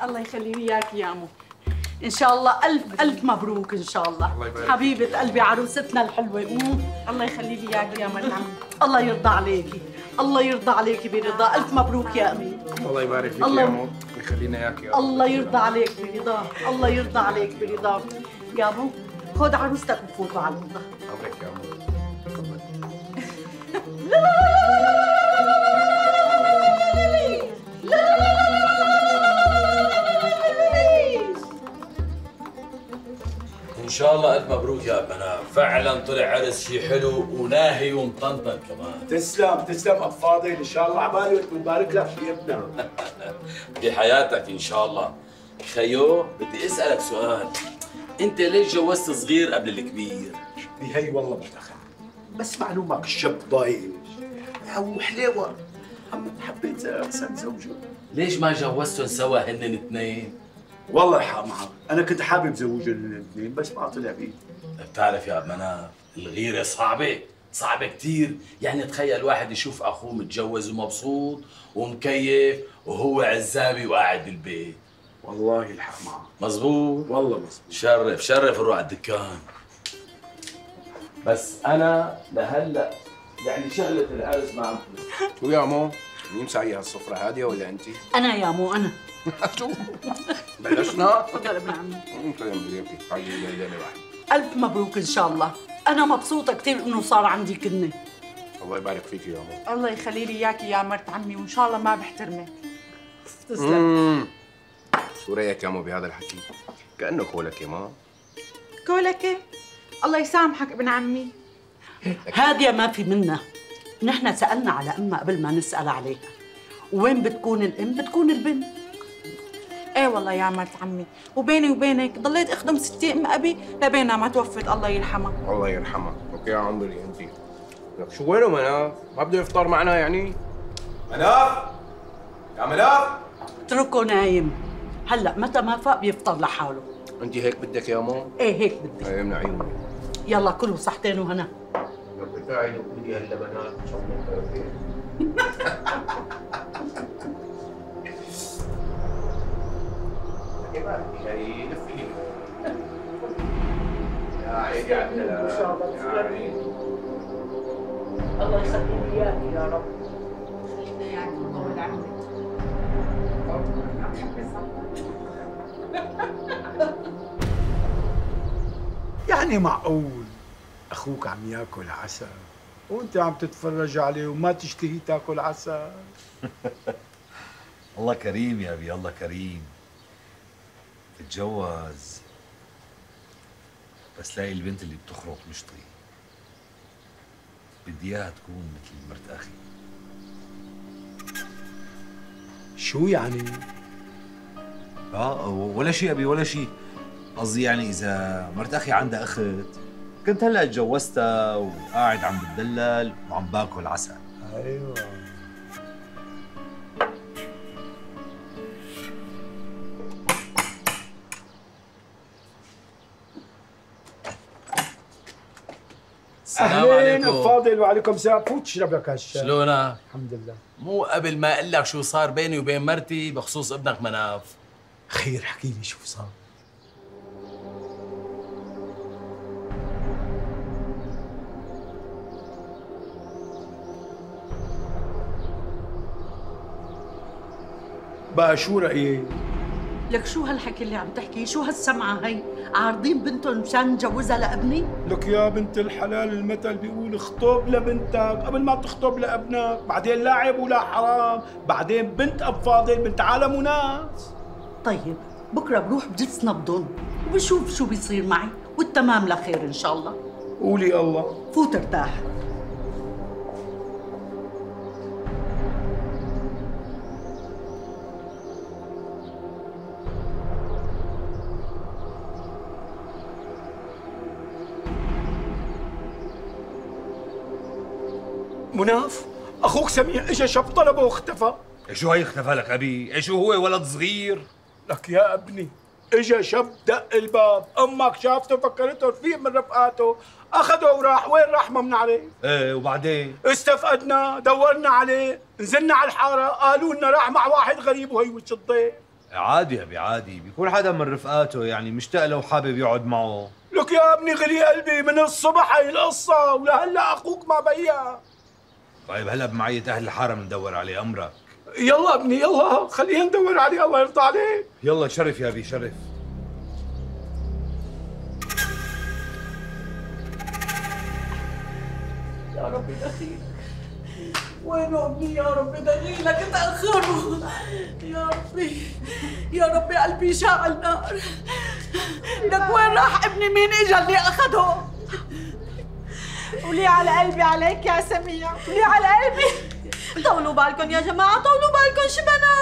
الله يخلي لي اياك يا عمو. ان شاء الله الف الف مبروك ان شاء الله حبيبه قلبي عروستنا الحلوه. الله يخلي لي اياك يا مريم. الله يرضى عليكي، الله يرضى عليكي برضا. الف مبروك يا امي. الله يبارك فيك يا عمو، يخلينا اياك يا الله يرضى عليك برضاه، الله يرضى عليك برضاه. يا ابو خذ عروستك وفوتوا على الاوضه. امرك يا عمو. ان شاء الله الف مبروك يا ابنا، فعلا طلع عرس شي حلو وناهي ومطنطن كمان. تسلم تسلم اب فاضل، ان شاء الله عبالي وتبارك لك في ابننا. بحياتك ان شاء الله. خيو بدي اسالك سؤال، انت ليش جوزت صغير قبل الكبير؟ هي والله ما دخل، بس معلومك الشاب ضايج وحليوه، حبيت احسن زوجه. ليش ما جوزتهم سوا هن الاثنين؟ والله الحق معك، انا كنت حابب زوجهم الاثنين بس ما طلع بيدي. بتعرف يا مناف الغيرة صعبة، صعبة كثير. يعني تخيل واحد يشوف اخوه متجوز ومبسوط ومكيف وهو عزابي وقاعد بالبيت. والله الحق معك. مزبوط؟ والله مزبوط. شرف شرف نروح على الدكان. بس انا لهلا يعني شغلة العرس ما عم شو يا عمو؟ مين مسعي هالسفرة هادية ولا انت؟ انا يا مو انا. شو؟ بلشنا؟ تفضل ابن عمي. سلام عليكي، تعالي ليلة واحد. الف مبروك ان شاء الله. انا مبسوطه كثير انه صار عندي كنه. الله يبارك فيك يا عمو. الله يخلي لي اياكي يا مرت عمي، وان شاء الله ما بحترمك. تسلم. شو رايك يا عمو بهذا الحكي؟ كأنه كولك يا ما. كولك الله يسامحك ابن عمي. هادية ما في منها. نحن سألنا على أمها قبل ما نسأل عليها، وين بتكون الأم بتكون البنت. ايه والله يا مرت عمي، وبيني وبينك ضليت اخدم ستي ام ابي لبينها ما توفت الله يرحمها. الله يرحمها، اوكي يا عمري انت. لك شو وينه مناف؟ ما بده يفطر معنا يعني؟ مناف؟ يا مناف؟ اتركه نايم، هلا متى ما فاق بيفطر لحاله. انت هيك بدك يا مو؟ ايه هيك بدي. ايه من عيوني. يلا كلوا صحتين وهنا. لو قاعد وكلي هاللبنات ان شاء الله خير. يا لفي يا عيني يا عبد الله. ان شاء الله. الله يخلي لي اياك يا رب. خلينا اياك طول عمرك. يعني معقول اخوك عم ياكل عسل وانت عم تتفرج عليه وما تشتهي تاكل عسل؟ الله كريم يا ابي، الله كريم. تتجوز بس لاقي البنت اللي بتخرط مشطي، بدي اياها تكون مثل مرت اخي. شو يعني؟ ولا شيء ابي ولا شيء. قصدي يعني اذا مرت اخي عندها اخت كنت هلا اتجوزتها وقاعد عم بتدلل وعم باكل عسل. ايوه. السلام عليكم. فاضل وعليكم السلام. فوت اشرب لك هالشاي. شلونك؟ الحمد لله. مو قبل ما اقول لك شو صار بيني وبين مرتي بخصوص ابنك مناف. خير احكي لي شو صار. بقى شو رأيك؟ لك شو هالحكي اللي عم تحكيه؟ شو هالسمعة هي؟ عارضين بنتهم مشان نجوزها لابني؟ لك يا بنت الحلال المثل بيقول اخطب لبنتك قبل ما تخطب لابنك، بعدين لا عيب ولا حرام، بعدين بنت اب فاضل بنت عالم وناس. طيب بكره بروح بجس نبضن وبشوف شو بيصير معي، والتمام لخير ان شاء الله. قولي الله. فوت ارتاح. مناف اخوك سميع اجى شاب طلبه واختفى. شو هي اختفى لك ابي؟ شو هو ولد صغير؟ لك يا ابني اجى شاب دق الباب، امك شافته فكرته رفيق من رفقاته، اخذه وراح. وين راح ما بنعرف. ايه وبعدين؟ استفقدنا دورنا عليه، نزلنا على الحاره قالوا لنا راح مع واحد غريب وهي وش الضيف. عادي يا ابي عادي، بيكون حدا من رفقاته يعني مشتاق له وحابب يقعد معه. لك يا ابني غلي قلبي من الصبح هي القصة ولهلا اخوك ما بيا. طيب هلا بمعية اهل الحارة بندور عليه، امرك. يلا ابني يلا خلينا ندور عليه الله يرضى عليك. يلا شرف يا ابي شرف. يا ربي دخيلك، وينه ابني يا ربي دخيلك تأخره. يا ربي يا ربي قلبي شاعل نار. لك وين راح ابني؟ مين اجا اللي اخده؟ قولي على قلبي عليك يا سميع، قولي على قلبي. طولوا بالكم يا جماعة، طولوا بالكم شبنا.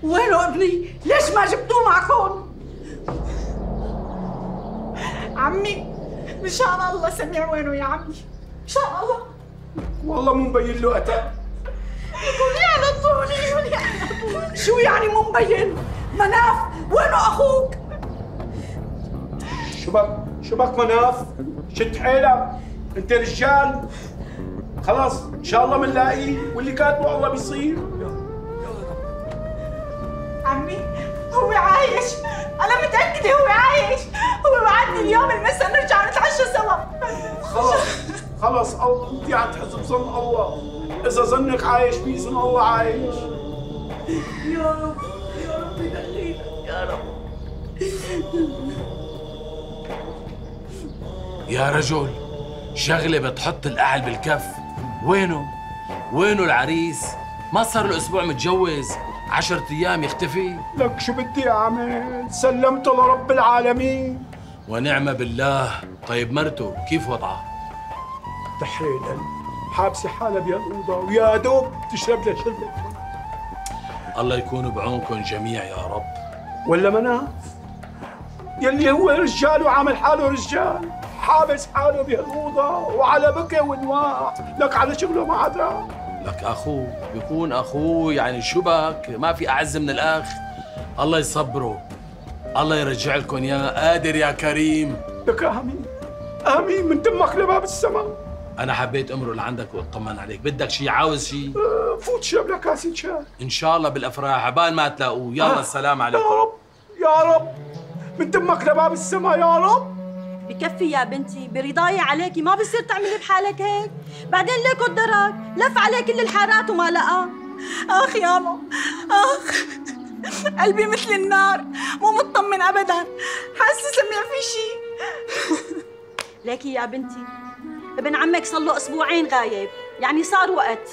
وينه ابني؟ ليش ما جبتوه معكم؟ عمي مشان الله سميع وينه يا عمي؟ مشان الله. والله مو مبين له أتى. قولي على طول، قولي على طول. شو يعني مو مبين؟ مناف وينه اخوك؟ شبك مناف، شد حيلك، انت رجال. خلاص ان شاء الله بنلاقيه واللي كاتبه الله بيصير. عمي هو عايش، أنا متأكدة هو عايش، هو وعدني اليوم المساء نرجع نتعشى سوا. خلص انت عم تحس بظن الله، إذا ظنك عايش بإذن الله عايش. يا رب يا ربي دخيلك يا رب. يا رجل شغلة بتحط الأعل بالكف. وينه العريس؟ ما صار له أسبوع متجوز، 10 أيام يختفي. لك شو بدي أعمل؟ سلمته لرب العالمين. ونعم بالله. طيب مرته كيف وضعها؟ تحرير القلب، حابسة حالها بهالأوضة ويا دوب تشرب لها شربة. الله يكون بعونكم جميع يا رب. ولا مناف يلي هو رجال وعامل حاله رجال، حابس حاله بهالأوضة وعلى بكى ونواح، لك على شغله ما عاد راح. لك أخوه بيكون أخوه، يعني شو بك؟ ما في أعز من الأخ. الله يصبره، الله يرجع لكم يا قادر يا كريم. لك آمين من تمك لباب السماء. أنا حبيت أمرق لعندك وأطمن عليك. بدك شي؟ عاوز شي؟ فوت شرب لك كاسة شاي. إن شاء الله بالأفراح عبال ما تلاقوه. يلا السلام عليكم. يا رب يا رب من تمك لباب السماء يا رب. بكفي يا بنتي، برضاية عليكي ما بصير تعملي بحالك هيك. بعدين ليكو الدرك لف عليه كل الحارات وما لقى. آخ ياما آخ، قلبي مثل النار، مو مطمن أبداً، حاسة سميع في شي. ليكي يا بنتي ابن عمك صار له أسبوعين غايب، يعني صار وقت.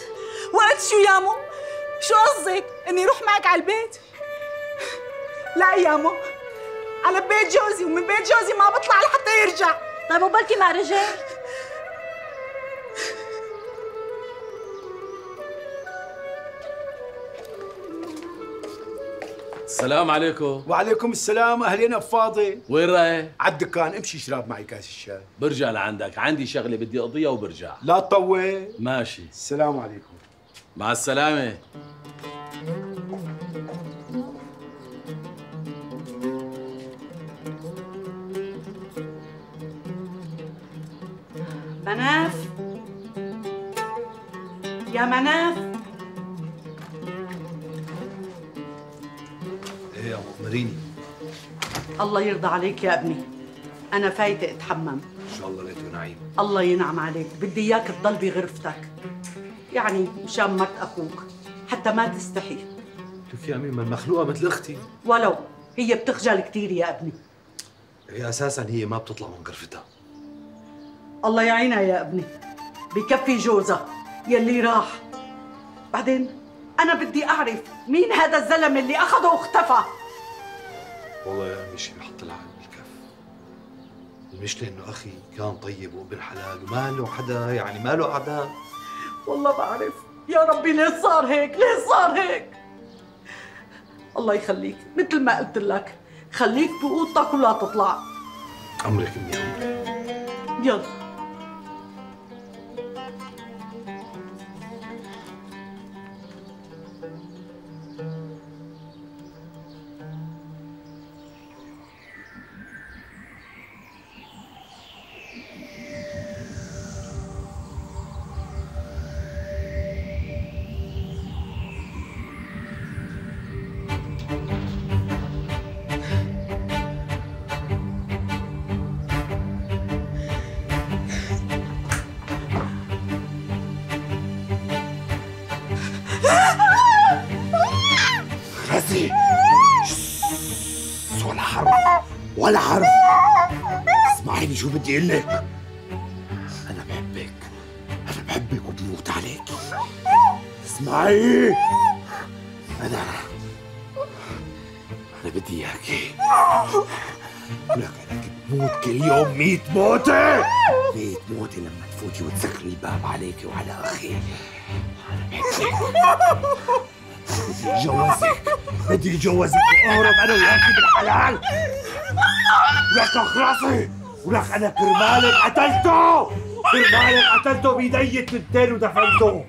وقت شو يامو؟ شو قصدك؟ إني روح معك على البيت؟ لا يامو، على بيت جوزي، ومن بيت جوزي ما بطلع لحتى يرجع. طيب وبلكي ما رجع؟ السلام عليكم. وعليكم السلام. أهلين أفاضل. وين رايح؟ على الدكان، امشي اشرب معي كاس الشاي. برجع لعندك، عندي شغلة بدي أقضيها وبرجع. لا تطول. ماشي. السلام عليكم. مع السلامة. مناف يا مناف. ايه يا مؤمريني. الله يرضى عليك يا ابني، أنا فايتة أتحمم. ان شاء الله ليته نعيم. الله ينعم عليك، بدي إياك تضل بغرفتك، يعني مشان مرت أخوك حتى ما تستحي. شوف يا أمي، ما المخلوقة مثل أختي. ولو هي بتخجل كثير يا ابني. هي أساساً هي ما بتطلع من غرفتها. الله يعينها يا ابني، بكفي جوزها يلي راح. بعدين أنا بدي أعرف مين هذا الزلمة اللي أخذه واختفى. والله يا أمي شي بحط العقل بالكف. المشكلة إنه أخي كان طيب وابن حلال وما له حدا، يعني ما له أعداء. والله بعرف يا ربي ليه صار هيك، ليه صار هيك. الله يخليك، مثل ما قلت لك خليك بأوضتك ولا تطلع. أمرك أمي أمرك. يلا. ولا حرف. اسمعيني شو بدي اقول لك، انا بحبك وبموت عليك. اسمعي، انا بدي اياكي، ولك انا بموت كل يوم 100 موتة، 100 موتة لما تفوتي وتسكري الباب عليكي وعلى اخي. انا بحبك، بدي اتجوزك واهرب انا وياكي بالحلال. ولك راسي، ولك انا كرمالك قتلته بيدي التنتين ودفنته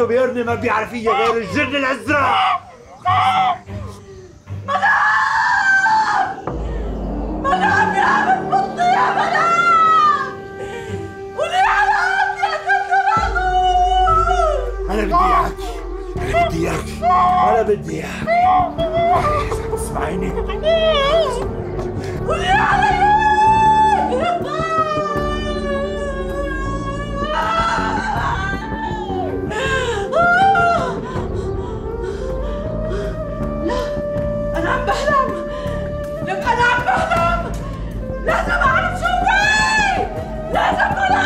بقرني ما بيعرف فيها غير الجن الازرق. منام يا بنت بطي يا منام، قولي على يا كنت معقول. انا بدي اياكي. اسمعيني، قولي علي. أنا عم بحلم، لك أنا عم بحلم، لازم أعرف شو في، لازم أعرف.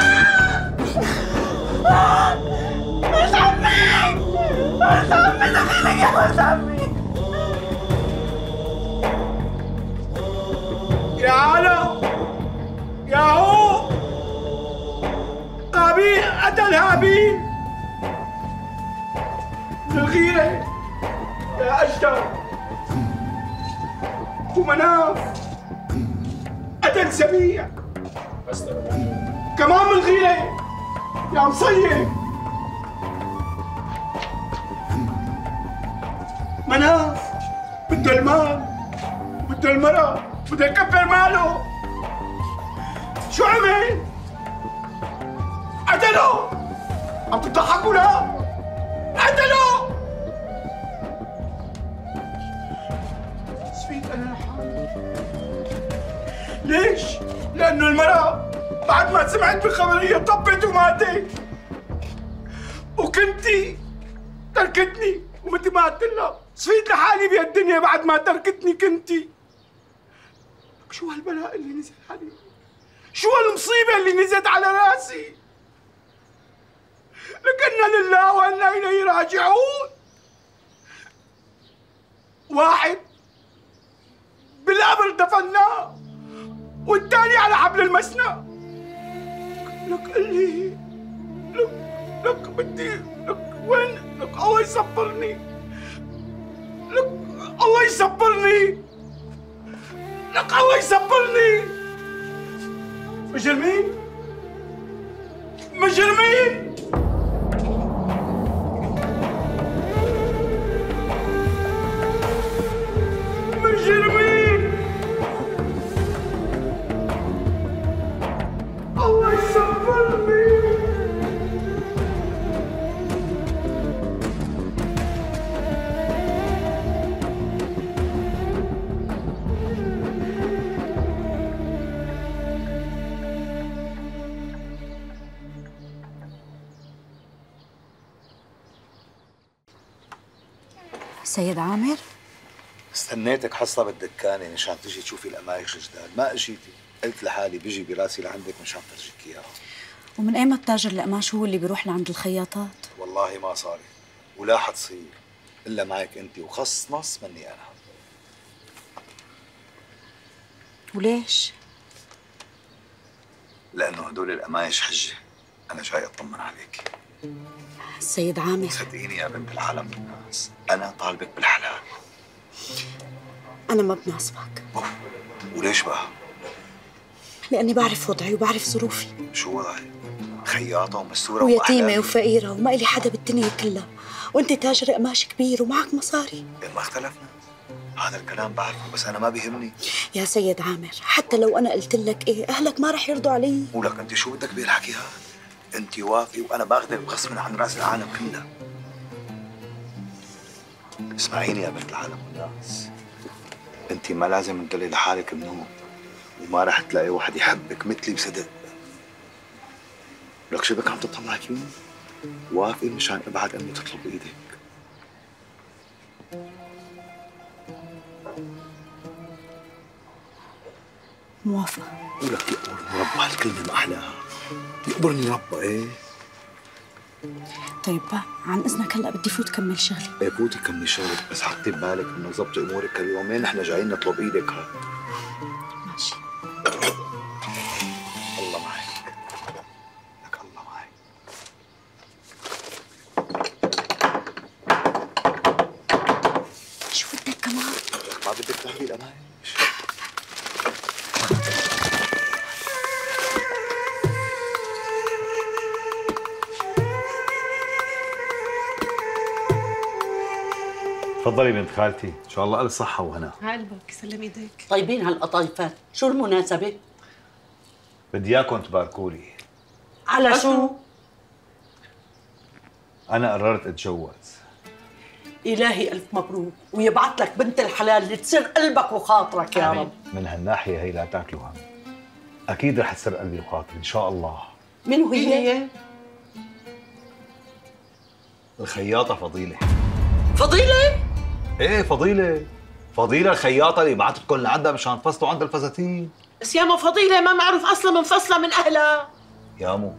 مش عمي دخيلك يا مش عمي. يا علا، يا هو قابيل قتل هابيل بالغيرة، يا أشتر. ومناف قتل سبيع كمان بالغيرة، يا مصيب. مناف بده المال، بده المرأة، بده يكفر ماله. شو عمل؟ قتله. عم تضحكوا؟ لا، قتله. سفيت انا لحالي. ليش؟ لانه المرأة بعد ما سمعت بالخبرية طبت وماتت، وكنتي تركتني ومتى ما قلت لها سفيت لحالي بهالدنيا بعد ما تركتني كنتي. شو هالبلاء اللي نزل علي؟ شو هالمصيبة اللي نزلت على راسي؟ لكنا لله وإنا إليه راجعون. واحد بالقبر دفناه والثاني على حبل المسنى. لك قل لي، لك بدي، لك وين؟ لك الله يصبرني، لك الله يصبرني، لك الله يصبرني. مجرمين، مجرمين. مجرمين. الله يصبرني. سيد عامر؟ استنيتك حصة بالدكانة مشان تجي تشوفي القمايش الجداد، ما اجيتي. قلت لحالي بيجي براسي لعندك مشان فرجيك اياها. ومن ايمت التاجر القماش هو اللي بيروح لعند الخياطات؟ والله ما صارت ولا حتصير الا معك انت، وخص نص مني انا. وليش؟ لانه هدول القمايش حجة، انا جاي اطمن عليك. سيد عامر، صدقيني يا بنت الحلم والناس، انا طالبك بالحلال. انا ما بناسبك. وليش بقى؟ لاني بعرف وضعي وبعرف ظروفي. شو وضعي؟ خياطة ومسورة ويتيمة وفقيرة وما إلي حدا بالدنيا كلها، وانت تاجر قماش كبير ومعك مصاري. ما اختلفنا، هذا الكلام بعرفه، بس انا ما بيهمني. يا سيد عامر، حتى لو انا قلت لك ايه اهلك ما رح يرضوا علي. ولك انت شو بدك بهالحكي هذا؟ انت وافي وانا باخذك بغصب عن راس العالم كله. اسمعيني يا بنت العالم والناس، انت ما لازم تضلي لحالك بنوم، وما رح تلاقي واحد يحبك مثلي بصدق. لك شو بك عم تطلع فيني؟ وافقي مشان ابعد امي تطلب ايدك. موافقة. ولك يقبرني ربها هالكلمة ما أحلاها. يقبرني ربها إيه؟ طيب عن إذنك هلأ بدي فوت كمل شغلي. إيه فوتي كملي شغلك، بس حطي ببالك إنه ظبطي أمورك هاليومين، نحن جايين نطلب إيدك ها. ماشي. الله معك. لك الله معك. شو بدك كمان؟ ما بدك تهدي الأمان؟ تفضلي بنت خالتي، ان شاء الله الف صحه وهنا. قلبك يسلم ايديك. طيبين هالقطايفات، شو المناسبة؟ بدي اياكم تباركوا لي. على شو؟ انا قررت اتجوز. إلهي ألف مبروك، ويبعث لك بنت الحلال اللي تسر قلبك وخاطرك يا رب. من هالناحيه هي لا تاكلوا هم، اكيد رح تسر قلبي وخاطري ان شاء الله. من هي؟ الخياطه فضيله. فضيلة؟ ايه فضيله، فضيله الخياطه اللي بعتتكم لعندها مشان تفصلوا عند الفساتين. بس ياما فضيلة ما معروف أصلا منفصلة من أهلها. يامو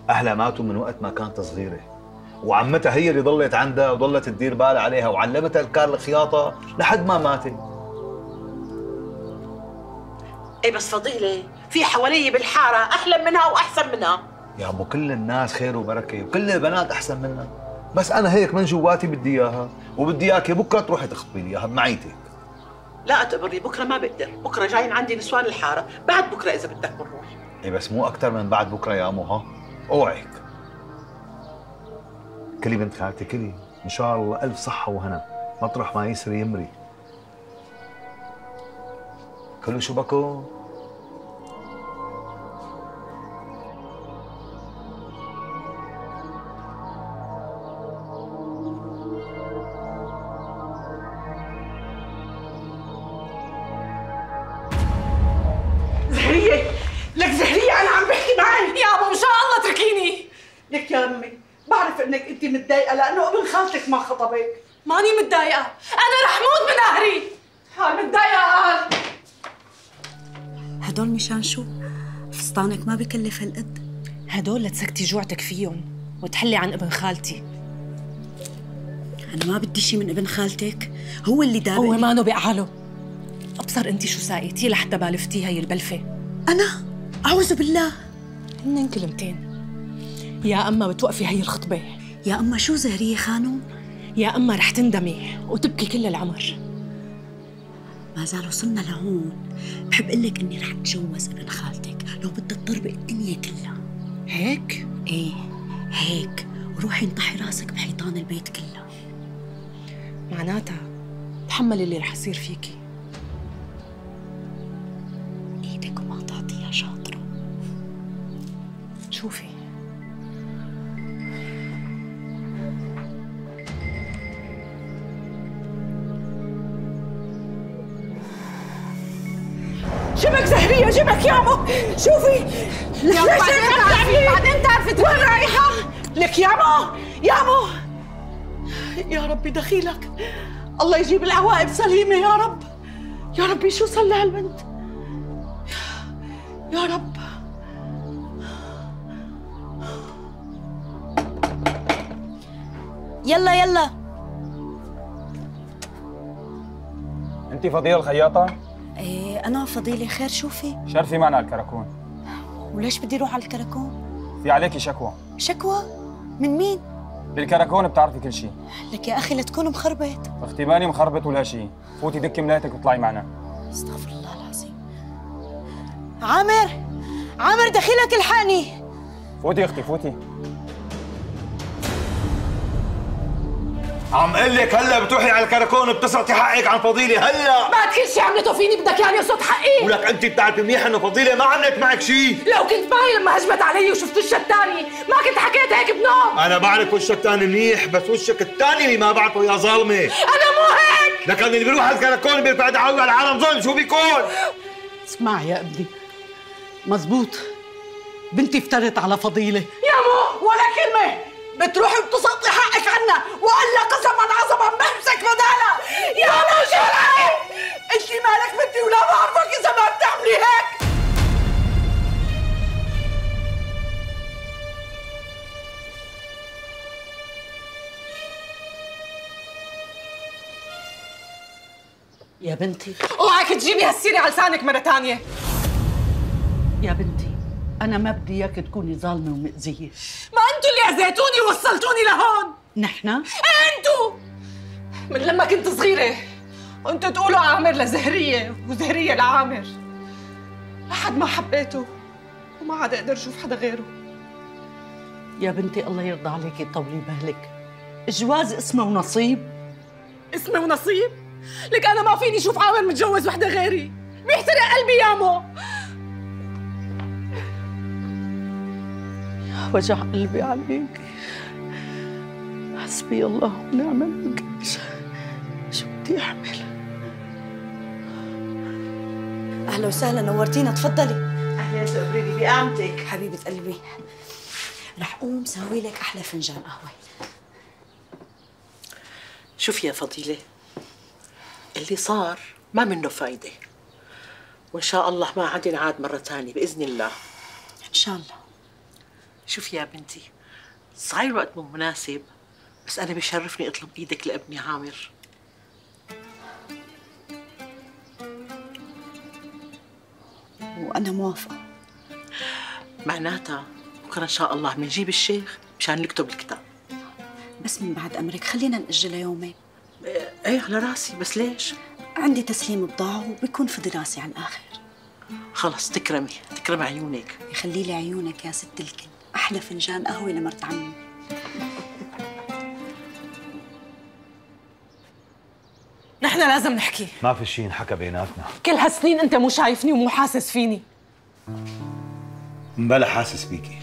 اهلها ماتوا من وقت ما كانت صغيره، وعمتها هي اللي ضلت عندها وضلت تدير بالها عليها وعلمتها الكار الخياطه لحد ما ماتت. ايه بس فضيلة في حوالي بالحارة أحلى منها وأحسن منها. يا ابو كل الناس خير وبركه وكل البنات احسن منها، بس انا هيك من جواتي بدي اياها وبدي اياكي بكره تروحي تخطبي لي اياها بمعيتك. لا اعتبرني بكره ما بقدر، بكره جايين عندي نسوان الحاره، بعد بكره اذا بدك بنروح. ايه بس مو اكثر من بعد بكره يا امو ها، اوعك. كلي بنت خالتي كلي، ان شاء الله الف صحه وهنا، مطرح ما يسري يمري. كلوا شو بكو؟ زهرية، لك زهرية أنا عم بحكي معك. يا أبو إن شاء الله اتركيني. لك يا أمي بعرف إنك أنت متضايقة لأنه ابن خالتك ما خطبك. ماني متضايقة، أنا رح موت من قهري. متضايقة. هدول مشان شو؟ فستانك ما بكلف هالقد. هدول لتسكتي جوعتك فيهم وتحلي عن ابن خالتي. أنا ما بدي شي من ابن خالتك، هو اللي دابق. هو مانو بقعاله. أبصر أنت شو ساقيتي لحتى بالفتي هي البلفة. أنا؟ أعوذ بالله. هنن كلمتين، يا أما بتوقفي هي الخطبة، يا أما شو زهرية خانون؟ يا أما رح تندمي وتبكي كل العمر. ما زال وصلنا لهون، بحب أقول لك إني رح أتجوز ابن خالتك لو بدها تطربق الدنيا كلها. هيك؟ إيه هيك، وروحي انطحي راسك بحيطان البيت كلها. معناتها تحملي اللي رح يصير فيكي. إيدك وما تعطيها شاطرة. شوفي شبك زهرية، شبك يامو، شوفي يا بعدين تعرفي وين رايحة؟ لك يامو يا ربي دخيلك، الله يجيب العواقب سليمة يا رب. يا ربي شو صار لهالبنت يا رب. يلا انت فضيلة الخياطة؟ إيه أنا فضيلة. خير شوفي؟ شرفي معنا الكراكون. وليش بدي روح على الكراكون؟ في عليكي شكوى. شكوى؟ من مين؟ بالكراكون بتعرفي كل شيء. لك يا أخي لا تكون مخربط. اختي ماني مخربط ولا شيء، فوتي دكي ملايتك واطلعي معنا. استغفر الله العظيم. عامر دخيلك الحقني. فوتي اختي فوتي. عم قل لك هلا بتروحي على الكراكون بتسرقي حقك عن فضيله هلا. بعد كل شيء عملته فيني بدك يعني يصد حقي؟ ولك انت بتعرفي منيح انه فضيله ما عملت معك شيء. لو كنت معي لما هجمت علي وشفت وشها الثاني ما كنت حكيت هيك بنوم. انا بعرف وشك الثاني منيح، بس وشك الثاني اللي ما بعرفه يا ظالمه. انا مو هيك. لكن اللي بيروح على الكراكون بيرفع دعوه على العالم ظلم شو بيكون؟ اسمع يا ابني، مزبوط بنتي افترت على فضيلة. يامو ولا كلمة، بتروحي وبتسقطي حقك عنا، وإلا قسما عظما بمسك بدالها. يامو شو انت مالك بنتي ولا بعرفك إذا ما بتعملي هيك. يا بنتي اوعك تجيبي هالسيرة على لسانك مرة تانية. يا بنتي أنا ما بدي إياك تكوني ظالمة ومأذية. ما انتوا اللي اذيتوني ووصلتوني لهون. نحن؟ انتوا من لما كنت صغيرة وانتوا تقولوا عامر لزهرية وزهرية لعامر، لحد ما حبيته وما عاد اقدر اشوف حدا غيره. يا بنتي الله يرضى عليكي طولي بالك، الجواز اسمه ونصيب. اسمه ونصيب؟ لك انا ما فيني اشوف عامر متجوز وحدة غيري، بيحترق قلبي يامو. وجع قلبي عليك، حسبي الله ونعم الوكيل. شو بدي اعمل؟ اهلا وسهلا، نورتينا، تفضلي. اهلا تقبريني بقامتك حبيبة قلبي، رح قوم سوي لك احلى فنجان قهوة. شوفي يا فضيلة، اللي صار ما منه فايدة، وإن شاء الله ما عاد ينعاد مرة ثانية بإذن الله. إن شاء الله. شوفي يا بنتي، صحيح الوقت مو مناسب، بس أنا بيشرفني أطلب إيدك لابني عامر. وأنا موافقة. معناتها بكرة إن شاء الله بنجيب الشيخ مشان نكتب الكتاب. بس من بعد أمرك خلينا نأجلها يومين. إيه على راسي، بس ليش؟ عندي تسليم بضاعة وبيكون فضي راسي على الآخر. خلص تكرمي عيونك. يخلي لي عيونك يا ست الكل، أحلى فنجان قهوة لمرت عمي. نحن لازم نحكي. ما في شيء انحكى بيناتنا. كل هالسنين انت مو شايفني ومو حاسس فيني. مبلا حاسس فيكي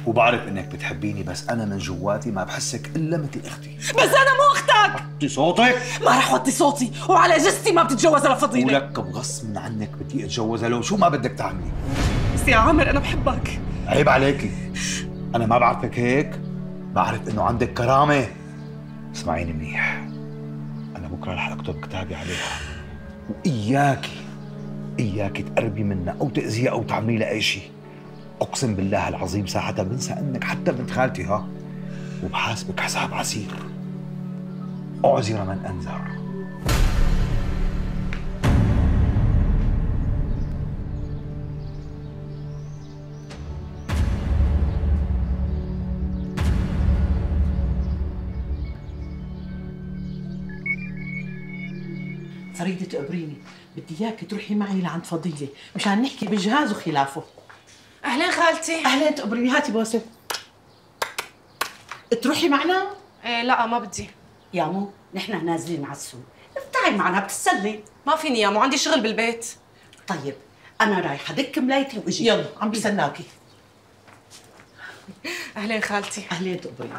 وبعرف انك بتحبيني، بس انا من جواتي ما بحسك الا مثل اختي. بس انا مو اختك. وطي صوتك. ما رح وطي صوتي، وعلى جثتي ما بتتجوزها لفضيلة. ولك بغصب عنك بدي اتجوزها لو شو ما بدك تعملي. بس يا عامر انا بحبك. عيب عليكي، انا ما بعرفك هيك، بعرف انه عندك كرامة. اسمعيني منيح، انا بكره رح اكتب كتابي عليها، وإياكي تقربي منها او تأذيها او تعملي لها اي شيء. اقسم بالله العظيم ساعتها بنسى انك حتى بنت خالتي، ها، وبحاسبك حساب عسير. اعذر من انذر. فريدة تقبريني، بدي اياك تروحي معي لعند فضيلة مشان نحكي بالجهاز وخلافه. اهلين خالتي. اهلين تقبريني، هاتي بوسه. تروحي معنا؟ ايه لا ما بدي. يامو نحن نازلين على السوق، تعي معنا بتتسلي. ما فيني يامو، عندي شغل بالبيت. طيب انا رايحه دك ملايتي واجي. يلا عم بستناكي. اهلين خالتي. اهلين تقبريني.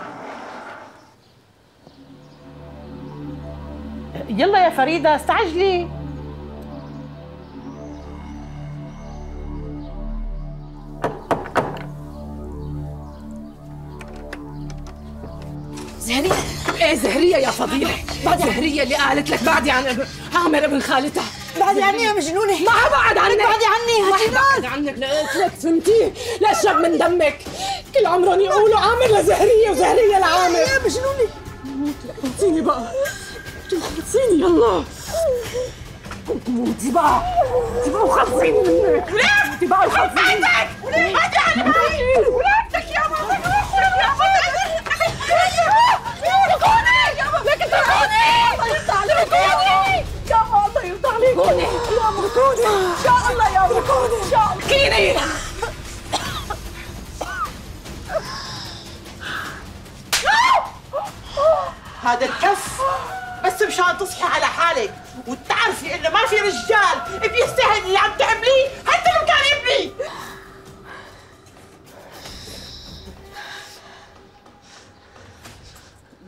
يلا يا فريدة استعجلي. زهرية؟ ايه زهرية يا فضيلة، بعد زهرية اللي قالت لك بعدي عن عامر ابن خالتها. بعدي عني يا مجنونة. ما حبعد عنك. بعدي عني ما حبعد عنك، قلت لك فهمتي؟ لا اشرب من دمك، كل عمرهم يقولوا عامر لزهرية وزهرية لعامر. يا مجنونة. خلصيني بقى، خلصيني يلا. موتي بقى، وخلصيني منك. ولادتي بقى وخلصيني. ولادتك ولادتك يا ماما، يا ماما لك اتركوني. يا الله يرضى عليك. يا اتركوني ان شاء الله، يا اتركوني ان شاء الله. كيني هذا الكف بس مشان تصحي على حالك وتعرفي انه ما في رجال بيستاهل اللي عم تعمليه حتى لو كان ابني.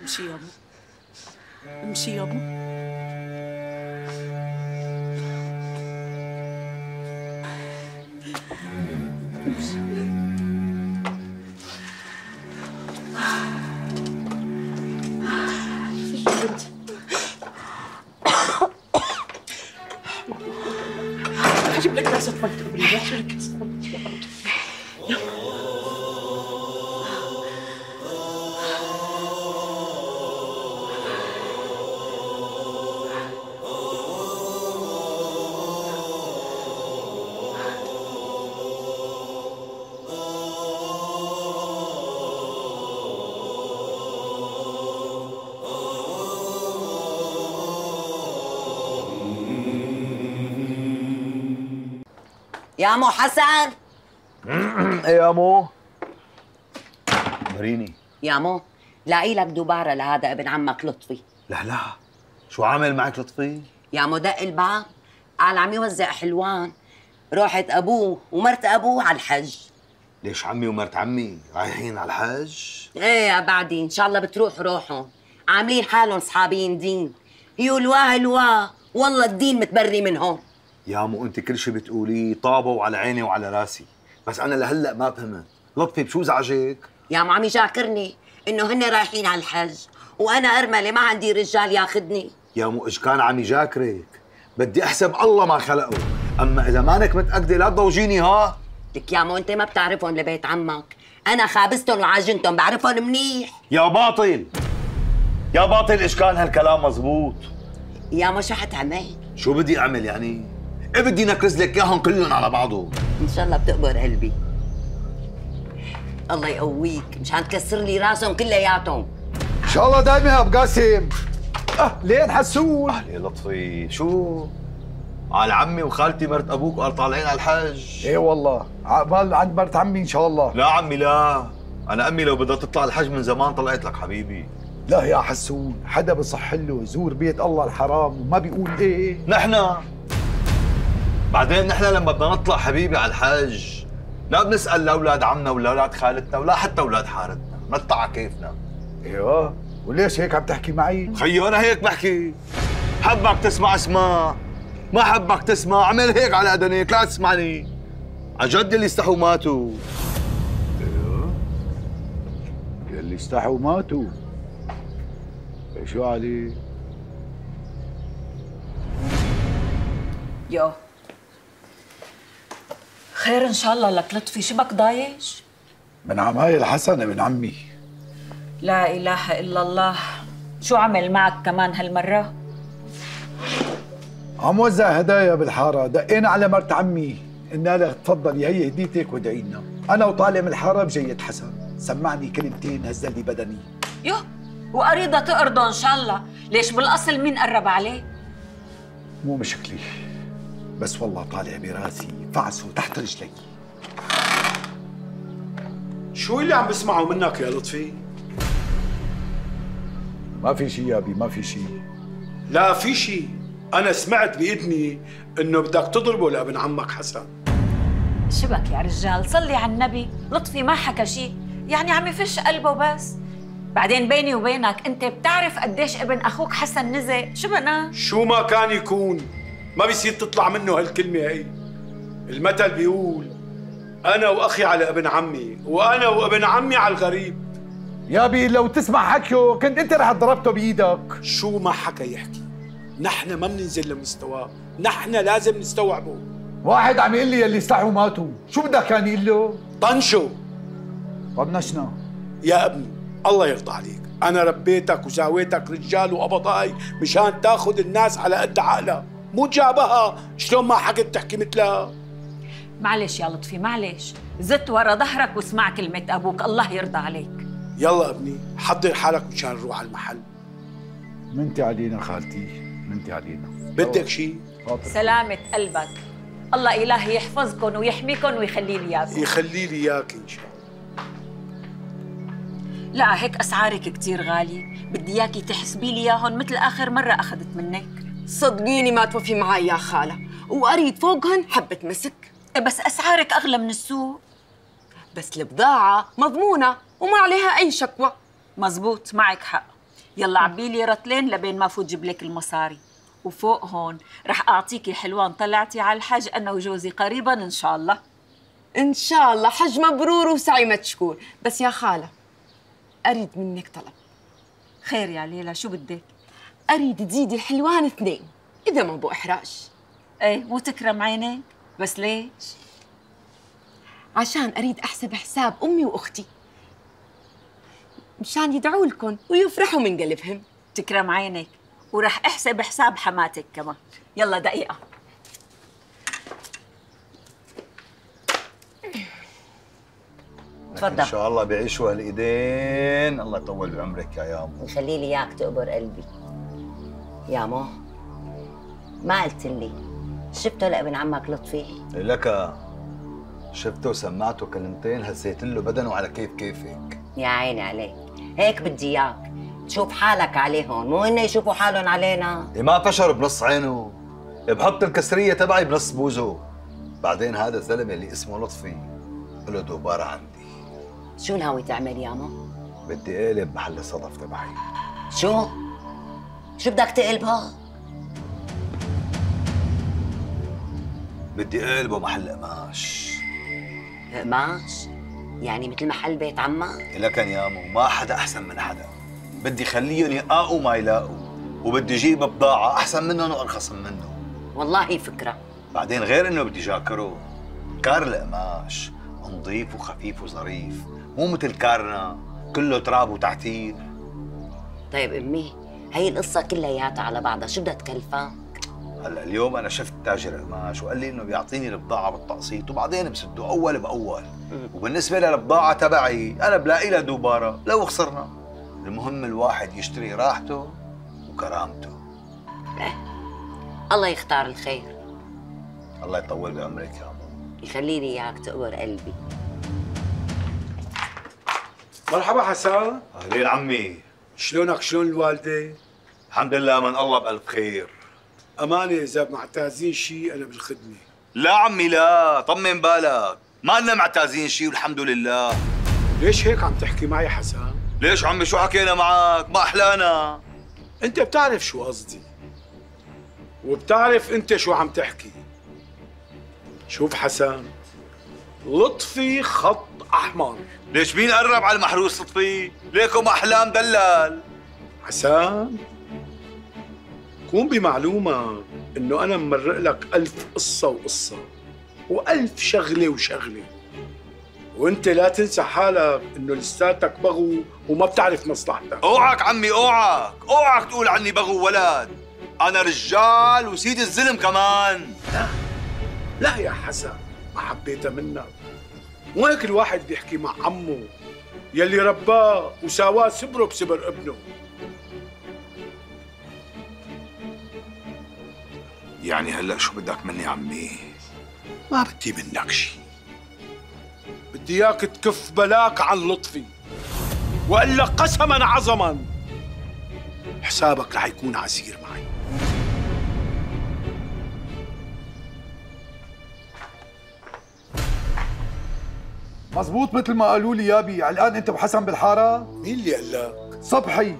امشي يا ابو، امشي يا ابو. هجيب لك كاسة مي تقبري، هجيب لك كاسة مي. يا مو حسن. ايه يا مو؟ مريني. يا مو لاقي لك دوباره لهذا ابن عمك لطفي. لا شو عامل معك لطفي؟ يا مو دق الباب قال عم يوزع حلوان. روحت ابوه ومرت ابوه على الحج. ليش عمي ومرت عمي رايحين على الحج؟ ايه يا بعدي ان شاء الله بتروح روحهم. عاملين حالهم صحابين دين. هلواه والله الدين متبري منهم. يا مو انت كل شيء بتقوليه طابوا على عيني وعلى راسي، بس انا لهلا ما فهمت، لطفي بشو زعجك؟ يا مو عم يجاكرني انه هن رايحين على الحج وانا ارمله ما عندي رجال ياخذني. يا مو ايش كان عم يجاكرك؟ بدي احسب الله ما خلقه، اما اذا مانك متاكده لا تضوجيني ها؟ لك يا مو انت ما بتعرفهم لبيت عمك، انا خابزتهم وعاجنتهم بعرفهم منيح. يا باطل ايش كان هالكلام مزبوط؟ يا مو شو حتعمل؟ شو بدي اعمل يعني؟ ايه بدي نكرز لك اياهم كلهم على بعضهم. ان شاء الله بتقبر قلبي. الله يقويك مشان تكسر لي راسهم كلياتهم. ان شاء الله دايما يا ابو قاسم. اهلين حسون. اهلين لطفي. شو؟ على عمي وخالتي مرت ابوك وقال طالعين على الحج. ايه والله عقبال عند مرت عمي ان شاء الله. لا عمي لا، انا امي لو بدها تطلع الحج من زمان طلعت لك حبيبي. لا يا حسون، حدا بصح له يزور بيت الله الحرام وما بيقول ايه؟ نحن بعدين نحن لما بدنا نطلع حبيبي على الحج لا بنسال لاولاد عمنا ولا اولاد خالتنا ولا حتى اولاد حارتنا، نطلع على كيفنا. ايوه، وليش هيك عم تحكي معي؟ خيو انا هيك بحكي، حبك تسمع اسمع، ما حبك تسمع اعمل هيك على اذنيك لا تسمعني. عن جد اللي استحوا ماتوا. ايوه يلي استحوا ماتوا. شو علي؟ يو خير ان شاء الله لك لطفي، شو بك ضايج؟ من عمايل حسن ابن عمي. لا اله الا الله، شو عمل معك كمان هالمره؟ عم وزع هدايا بالحاره، دقينا على مرت عمي قلنا لها تفضلي هي هديتك وادعي لنا. انا وطالع من الحاره بجيت حسن سمعني كلمتين هزل لي بدني. يو وقريضة تقرضه ان شاء الله، ليش بالاصل مين قرب عليه؟ مو مشكلة، بس والله طالع براسي فعسه تحت رجلي. شو اللي عم بسمعه منك يا لطفي؟ ما في شيء يا ابي، ما في شيء. لا في شيء، أنا سمعت بإذني إنه بدك تضربه لابن عمك حسن. شبك يا رجال، صلي على النبي، لطفي ما حكى شيء، يعني عم يفش قلبه بس. بعدين بيني وبينك انت بتعرف قديش ابن اخوك حسن نزق، شو بنا؟ شو ما كان يكون ما بيصير تطلع منه هالكلمة هي. المثل بيقول أنا وأخي على ابن عمي وأنا وابن عمي على الغريب. يا ابي لو تسمع حكيه كنت انت رح ضربته بايدك. شو ما حكى يحكي، نحن ما بننزل لمستواه، نحن لازم نستوعبه. واحد عم يقول لي يلي استحوا ماتوا، شو بدك كان يقول له؟ طنشوا. طنشنا. يا ابني الله يرضى عليك، أنا ربيتك وساويتك رجال وقبضاي مشان تاخذ الناس على قد عقلها، مو جابها شلون ما حكت تحكي مثلها. معلش يا لطفي معلش، زدت ورا ظهرك واسمع كلمة أبوك، الله يرضى عليك. يلا ابني حضر حالك مشان نروح على المحل. منتي علينا خالتي، منتي علينا. بدك شيء؟ سلامة قلبك، الله إلهي يحفظكم ويحميكم ويخلي لي إياكم. يخلي لي إياك إن شاء الله. لا هيك أسعارك كتير غالية، بدي إياكي تحسبي لي إياهم مثل آخر مرة أخذت منك. صدقيني ما توفي معي يا خالة، وقريت فوقهن حبة مسك. بس أسعارك أغلى من السوق. بس البضاعة مضمونة وما عليها أي شكوى. مزبوط معك حق. يلا عبي لي رطلين لبين ما فوت جيب لك المصاري، وفوق هون رح أعطيكي حلوان طلعتي على الحج أنا وجوزي قريبا إن شاء الله. إن شاء الله حج مبرور وسعي مشكور. بس يا خالة أريد منك طلب. خير يا ليلى، شو بدك؟ أريد تزيدي الحلوان 2 إذا ما بو إحراج. إيه مو تكرم عينك، بس ليش؟ عشان أريد أحسب حساب أمي وأختي مشان يدعوا لكم ويفرحوا من قلبهم. تكرم عينك، ورح احسب حساب حماتك كمان. يلا دقيقة. تفضل. ان شاء الله بيعيشوا هالايدين، الله يطول بعمرك يا يامو. ويخلي لي اياك تقبر قلبي. يامو ما قلت لي شفته لابن عمك لطفي؟ لك شفته وسمعته كلمتين هزيت له بدنه على كيفك. يا عيني عليك، هيك بدي اياك تشوف حالك عليهم، مو انه يشوفوا حالهم علينا. ما فشر بنص عينه، بحط الكسريه تبعي بنص بوزه. بعدين هذا الزلمه اللي اسمه لطفي له دوباره عندي. شو ناوي تعمل يامو؟ بدي اقلب محل الصدف تبعي. شو بدك تقلبها؟ بدي اقلبه محل قماش. قماش؟ يعني مثل محل بيت عمك؟ لكن يامو ما حدا احسن من حدا. بدي خليهم يقاقوا ما يلاقوا، وبدي اجيب بضاعه احسن منهم وارخص منهم. والله فكره. بعدين غير انه بدي جاكره، كار القماش نظيف وخفيف وظريف، مو مثل كارنا كله تراب وتعتير. طيب امي، هي القصه كلياتها على بعضها شو بدها تكلفك؟ هلا اليوم انا شفت تاجر قماش وقال لي انه بيعطيني البضاعه بالتقسيط وبعدين بسده اول باول. وبالنسبه للبضاعه تبعي انا بلاقي لها دوباره لو خسرنا. المهم الواحد يشتري راحته وكرامته. الله يختار الخير. الله يطول بعمرك يا عمو. يخلي لي اياك تقبر قلبي. مرحبا حسن. اهلين عمي. شلونك؟ شلون الوالده؟ الحمد لله من الله بألف خير. أمانة إذا معتازين شيء أنا بالخدمة. لا عمي لا، طمن بالك، ما لنا معتازين شيء والحمد لله. ليش هيك عم تحكي معي حسن؟ ليش عمي شو حكينا معك؟ ما أحلانا. أنت بتعرف شو قصدي، وبتعرف أنت شو عم تحكي. شوف حسن، لطفي خط أحمر. ليش مين قرب على المحروس لطفي؟ ليكم أحلام دلال. حسن، كون بمعلومة إنه أنا ممرق لك 1000 قصة وقصة و1000 شغلة وشغلة، وأنت لا تنسى حالك إنه لساتك بغو وما بتعرف مصلحتك. اوعك عمي اوعك تقول عني بغو ولد. أنا رجال وسيد الزلم كمان. لا يا حسن، ما حبيتها منك. مو هيك الواحد بيحكي مع عمه يلي رباه وساواه سبره بسبر ابنه. يعني هلا شو بدك مني عمي؟ ما بدي منك شيء، بدي اياك تكف بلاك عن لطفي، والا قسما عظما حسابك رح يكون عسير معي. مزبوط مثل ما قالوا لي يابي. علقان انت وحسن بالحاره؟ مين اللي قال لك؟ صبحي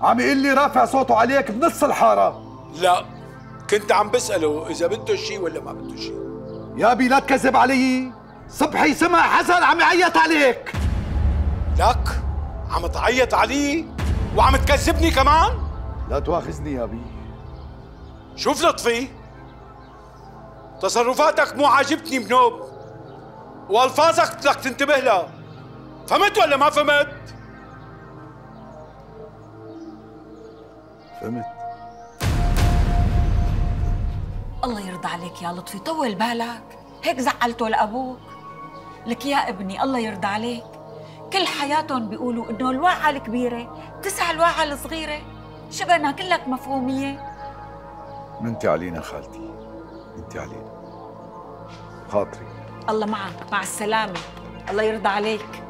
عم يقول لي رافع صوته عليك بنص الحاره. لا، كنت عم بسأله إذا بده شيء ولا ما بده شيء. يابي لا تكذب علي، صبحي سمع حسن عم يعيط عليك. لك عم تعيط علي وعم تكذبني كمان؟ لا تواخذني يابي. شوف لطفي، تصرفاتك مو عاجبتني بنوب، والفاظك بدك تنتبه لها. فهمت ولا ما فهمت؟ فهمت. الله يرضى عليك يا لطفي، طول بالك، هيك زعلته لأبوك. لك يا ابني الله يرضى عليك، كل حياتهم بيقولوا إنه الواعة الكبيرة تسع الواعة الصغيرة. شبنا كلك مفهومية. منتي علينا خالتي، منتي علينا. خاطري. الله معك، مع السلامة، الله يرضى عليك.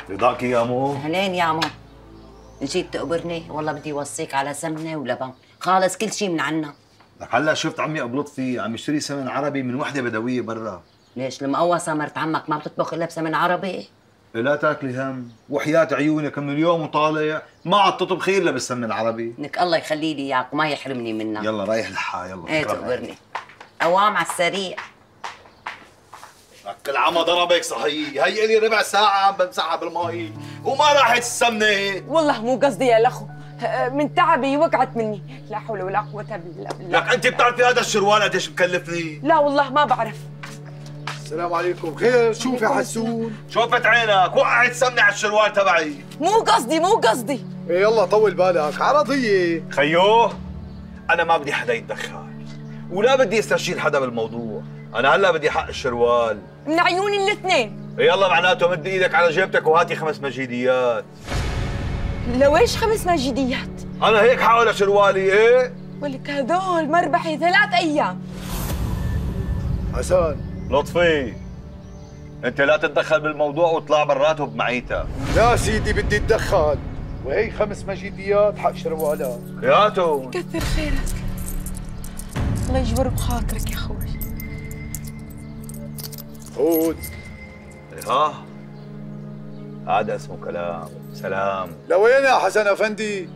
رضاك يا مو؟ اهلين يا مو. جيت تقبرني؟ والله بدي وصيك على سمنة ولبن، خالص كل شيء من عنا. لك هلا شفت عمي ابو لطفي عم يشتري سمن عربي من وحده بدويه برا. ليش المقوصة مرت عمك ما بتطبخ الا بسمن عربي؟ لا تاكلي هم، وحياة عيونك من اليوم وطالع ما عاد تطبخي الا بالسمن العربي. لك الله يخلي لي اياك وما يحرمني منك. يلا رايح لحا يلا. ايه تقبرني. قوام على السريع. كل عمى ضربك صحيح، هي لي ربع ساعة عم بمسحها بالمي وما راحت السمنة. والله مو قصدي يا لخو، من تعبي وقعت مني، لا حول ولا قوة الا بالله. لك انت بتعرفي هذا الشروال قديش مكلفني؟ لا والله ما بعرف. السلام عليكم. خير؟ شوف يا حسون. شوفت عينك وقعت سمنة على الشروال تبعي. مو قصدي. ايه يلا طول بالك، عرضية. خيو انا ما بدي حدا يتدخل ولا بدي استشير حدا بالموضوع، انا هلا بدي حق الشروال من عيوني الاثنين. يلا معناته مد ايدك على جيبتك وهاتي 5 مجيديات. لويش 5 مجيديات؟ انا هيك حاول شروالي. ايه ولك هدول مربحي 3 ايام. حسن لطفي انت لا تتدخل بالموضوع واطلع برات بمعيتك. لا سيدي بدي اتدخل، وهي 5 مجيديات حق شروالات. ياتو كثر خيرك، الله يجبر بخاطرك يا اخوي. خود. ها هذا اسمه كلام. سلام. لوين يا حسن افندي؟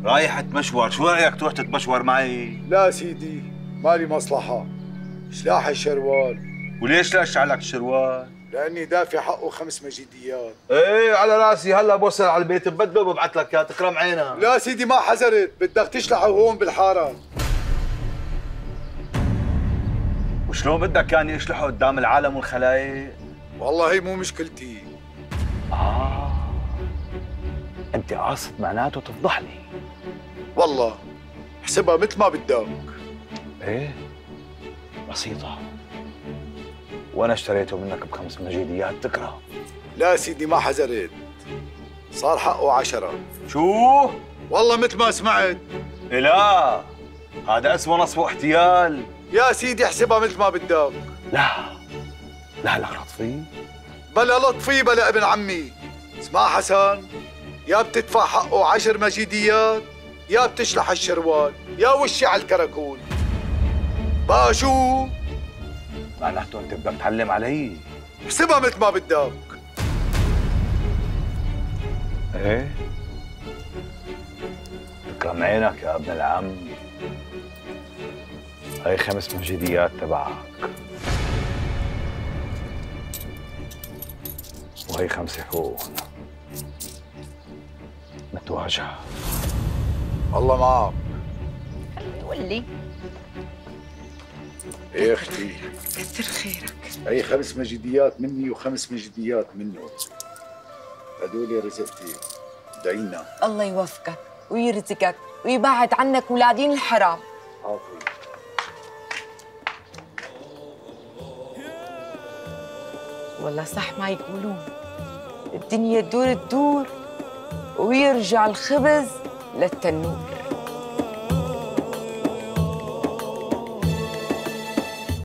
رايح اتمشور، شو رايك تروح تتمشور معي؟ لا سيدي مالي مصلحة، سلاح الشروال. وليش لا اشعلك الشروال؟ لاني دافع حقه 5 مجيديات. ايه على راسي، هلا بوصل على البيت ببدله وببعث لك اياه تكرم عينك. لا سيدي ما حذرت، بدك تشلحه هون بالحارة. وشلون بدك كان يشلحه قدام العالم والخلايق؟ والله هي مو مشكلتي. انت قاصد معناته تفضحني. والله احسبها مثل ما بدك. ايه بسيطة، وانا اشتريته منك ب5 مجيديات تكره. لا سيدي ما حذرت، صار حقه 10. شو؟ والله مثل ما سمعت. إيه لا، هذا اسمه نصب واحتيال. يا سيدي احسبها مثل ما بدك. لا لا لا لطفي. بلا لطفي بلا ابن عمي. اسمع حسن، يا بتدفع حقه 10 مجيديات يا بتشلح الشروال يا وشي على الكراكون. بقى شو؟ معناته انت بدك تعلم علي. احسبها مثل ما بدك. ايه تكرم عينك يا ابن العم. هاي 5 مجيديات تبعك، وهي 5 فوق. نتواجه. الله معك. ولي ايه اختي، كثر خيرك. هي 5 مجيديات مني و5 مجيديات منه. هدول رزقتي، ادعينا. الله يوفقك ويرزقك ويبعد عنك ولادين الحرام. عافية. والله صح ما يقولون، الدنيا تدور ويرجع الخبز للتنور.